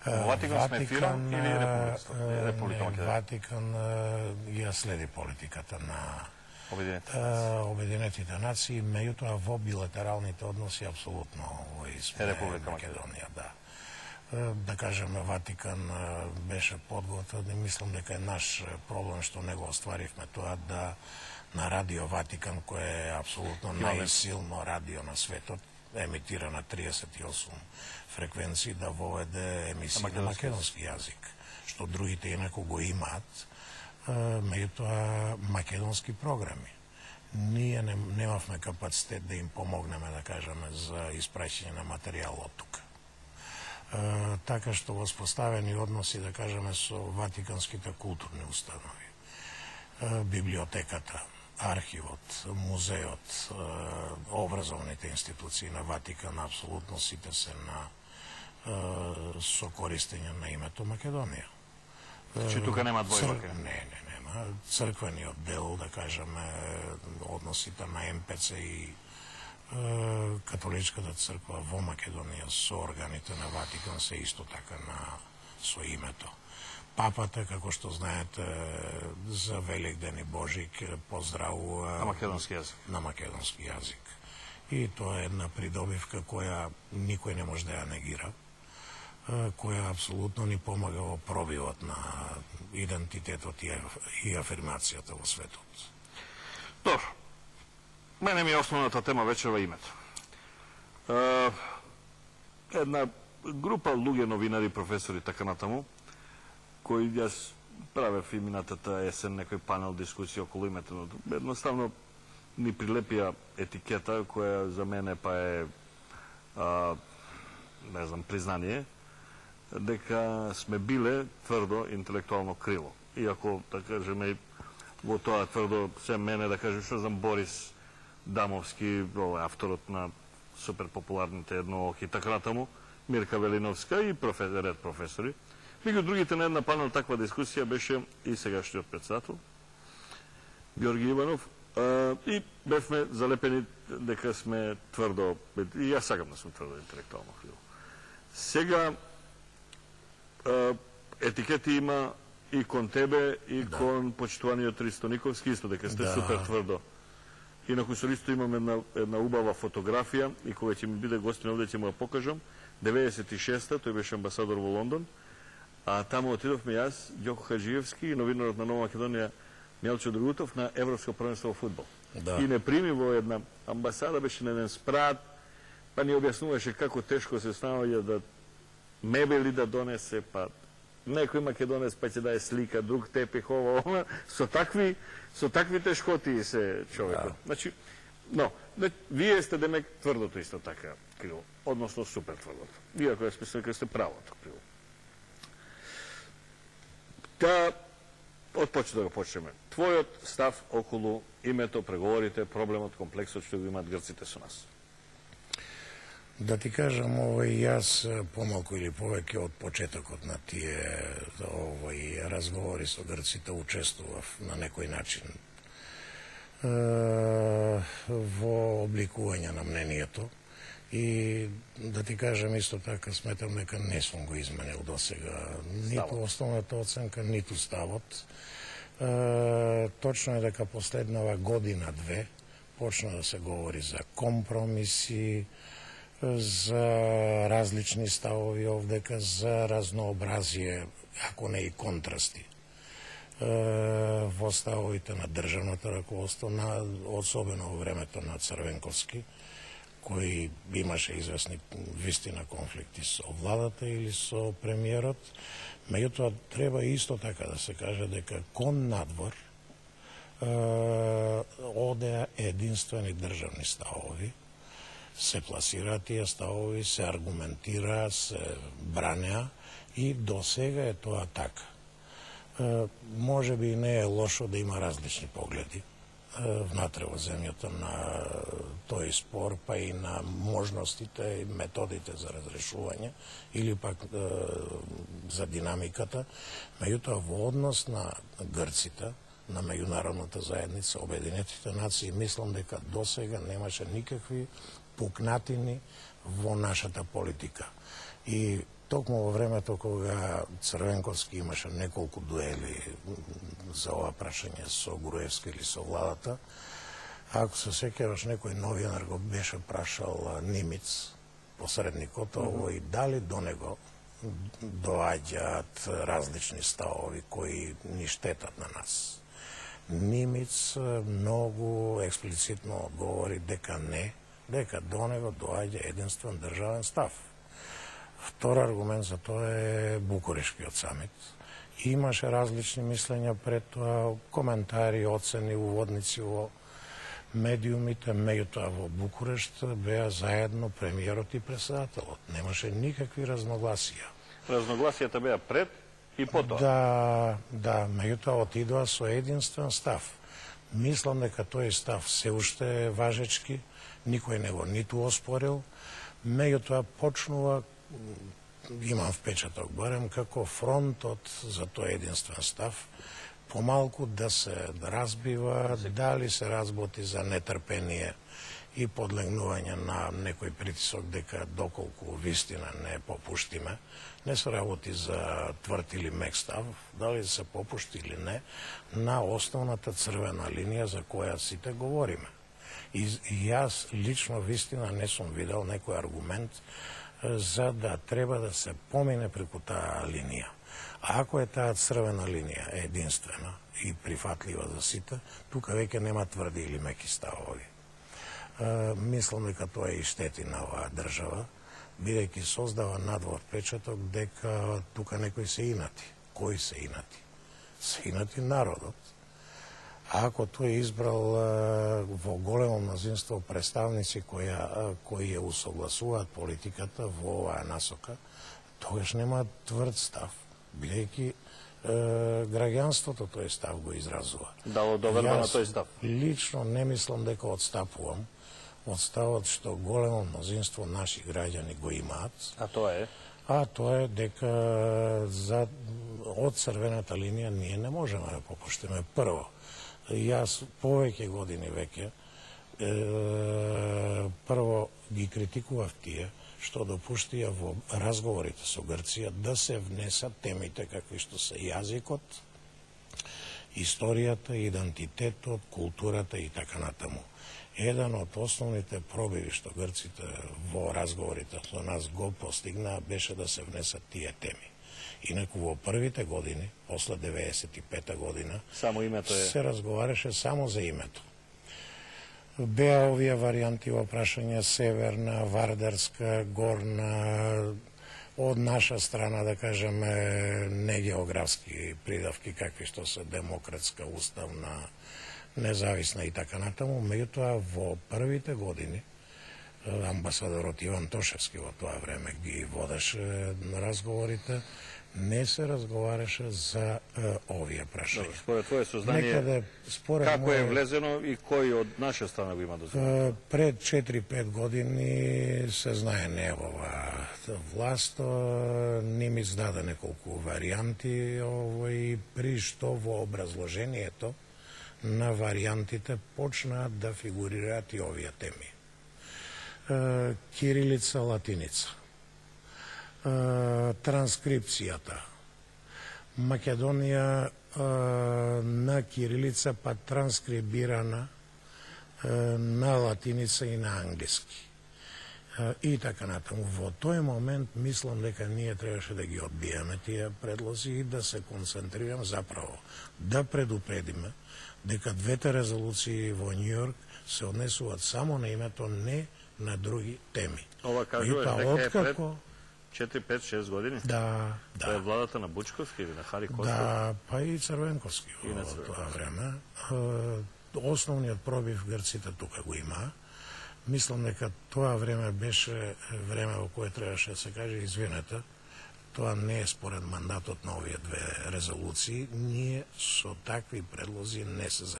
Ватикан сме фирам или Република Македонија? Ватикан ја следи политиката на Обединетите нации, меѓутоа во билатералните односи апсолутно сме Република Македонија, да. Да кажеме, Ватикан беше подготвен и мислам дека е наш проблем што не го остваривме тоа да на Радио Ватикан, кој е апсолутно најсилно радио на светот, емитира на 38 фреквенции, да воведе емисии на македонски јазик, што другите инаку го имаат, меѓутоа македонски програми. Ние немавме капацитет да им помогнеме, да кажеме, за испраќање на материјал од тука. Така што воспоставени односи, да кажеме, со ватиканските културни установи, библиотеката, архивот, музеот, образовните институции на Ватикан, апсолутно сите се со користење на името Македонија. Значи тука нема двојка? Нема. Црквениот дел, да кажеме, односите на МПЦ и католичката црква во Македонија со органите на Ватикан се исто така со името. Папата, како што знаете, за Великден и Божик поздравува на македонски јазик. На македонски јазик. И тоа е една придобивка која никој не може да ја негира, која апсолутно ни помага во пробивот на идентитетот и афирмацијата во светот. Добро. Мене ми е основната тема вечерва името. Една група луѓе, новинари, професори, така натаму, кои јас правев и минатата есен некој панел дискусија околу името. Едноставно ни прилепија етикета која за мене па е не знам, признание дека сме биле тврдо интелектуално крило. Иако, да кажеме, во тоа тврдо се мене, да кажем, што знам, Борис Дамовски, авторот на суперпопуларните едноохи, така натаму, Мирка Велиновска и ред професори. Меѓу другите на една панел таква дискусија беше и сегашниот председател Георги Иванов, и бевме залепени дека сме тврдо, и јас сакам да сме тврдо интелектуално крило. Сега етикети има и кон тебе, и кон почитуваниот Ристо Никовски, исто дека сте супер тврдо. Инаку со Ристо имам една убава фотографија и кога ќе ми биде гостин овде ќе му ја покажам. 96-та, тој беше амбасадор во Лондон, а таму отидовме јас, Ѓоко Хаджиевски и новинарот на Нова Македонија Мелчо Другутов на Европско првенство во фудбал. И не прими во една амбасада, беше на еден спрат, па ни објаснуваше како тешко се станува да мебели да донесе, па некој македонец па ќе даде слика, друг тепих, ова, со такви тешкоти се човекот. Значи, вие сте демек тврдото исто така крило, односно супер тврдото. Иако јас мислам дека сте правото крило. Од почет да го почнеме. Твојот став околу името, преговорите, проблемот, комплексот што го имаат грците со нас. Да ти кажам, јас помалку или повеќе од почетокот на тие разговори со грците учествував на некој начин во обликување на мнението и да ти кажам исто така сметам дека не сум го изменил до сега ниту основната оценка, ниту ставот. Точно е дека последнава година-две почна да се говори за компромиси, за различни ставови овдека, за разнообразие, ако не и контрасти во ставовите на државното раководство, особено во времето на Црвенковски, кој имаше известни вистина конфликти со владата или со премиерот. Меѓутоа, треба исто така да се каже дека кон надвор одеа единствени државни ставови, се пласираат тие ставови, се аргументира, се бранеа и до сега е тоа така. Може би не е лошо да има различни погледи внатре во земјата на тој спор, па и на можностите и методите за разрешување или пак за динамиката. Меѓутоа, во однос на грците, на меѓународната заедница, Обединетите нации, мислам дека до сега немаше никакви пукнатини во нашата политика. И токму во времето кога Црвенковски имаше неколку дуели за ова прашање со Груевски или со владата, ако се сеќаваш, некој новинар го беше прашал Нимиц, посредникот, овој, дали до него доаѓаат различни ставови кои ни штетат на нас. Нимиц многу експлицитно одговори дека не, дека до него доаѓа единствен државен став. Втор аргумент за тоа е Букурешкиот самит. Имаше различни мислења пред тоа, коментари, оцени, уводници во медиумите, меѓутоа во Букурешт беа заедно премиерот и председателот. Немаше никакви разногласија. Разногласијата беа пред и потоа. Да, меѓутоа отидоа со единствен став. Мислам дека тој став се уште е важечки, никој не го ниту оспорил, меѓутоа почнува, имам впечаток барем, како фронтот за тој единствен став помалку да се разбива, дали се разботи за нетрпение и подлегнување на некој притисок дека доколку вистина не попуштиме, не се работи за тврд или мек став, дали се попушти или не, на основната црвена линија за која сите говориме. И јас лично вистина не сум видел некој аргумент за да треба да се помине преку таа линија. А ако е таа црвена линија единствена и прифатлива за сите, тука веќе нема тврди или меки ставови. Мислам дека тоа и штети на оваа држава, бидејќи создава надвор впечаток дека тука некој се инати. Кој се инати? Се инати народот. А ако тој избрал во големо мнозинство представници кои ја усогласуваат политиката во оваа насока, тогаш нема тврд став, бидејќи граѓанството тој став го изразува. Дало доверба на тој став? Лично не мислам дека отстапувам од ставот што големо мнозинство наши граѓани го имаат. А тоа е? А тоа е дека од црвената линија ние не можеме да попуштиме. Прво, јас повеќе години веќе прво ги критикував тие што допуштија во разговорите со Грција да се внесат темите какви што се јазикот, историјата, идентитетот, културата и така натаму. Еден од основните пробиви што грците во разговорите со нас го постигнаа беше да се внесат тие теми. Инаку во првите години, после 95-та година, само името е... се разговараше само за името. Беа овие варијанти во прашање северна, вардарска, горна, од наша страна, да кажеме, не географски придавки, какви што се демократска, уставна, независна и така натаму. Меѓутоа, во првите години, амбасадорот Иван Тошевски во тоа време ги водеше на разговорите, не се разговараше за овие прашања. Според твое сознание, како е влезено и кој од наша страна го има дозволено? Пред 4-5 години се знае неговаа власт, Нимиц даде неколку варијанти, и при што во образложението на варијантите почнаат да фигурираат и овие теми. Кирилица, латиница, транскрипцијата, Македонија на кирилица па транскрибирана на латиница и на англиски. И така натаму. Во тој момент мислам дека ние требаше да ги одбиеме тие предлози и да се концентрираме заправо да предупредиме дека двете резолуции во Њујорк се однесуваат само на името, не на други теми. Ова кажува дека е пред 4-5-6 години? Да. Тоа е владата на Бучковски или на Хари Костов? Да, па и Црвенковски во тоа време. Основниот пробив грците тука го има. Мислам дека тоа време беше време во кое требаше да се каже извинете, тоа не е според мандатот на овие две резолуции, ние со такви предлози не се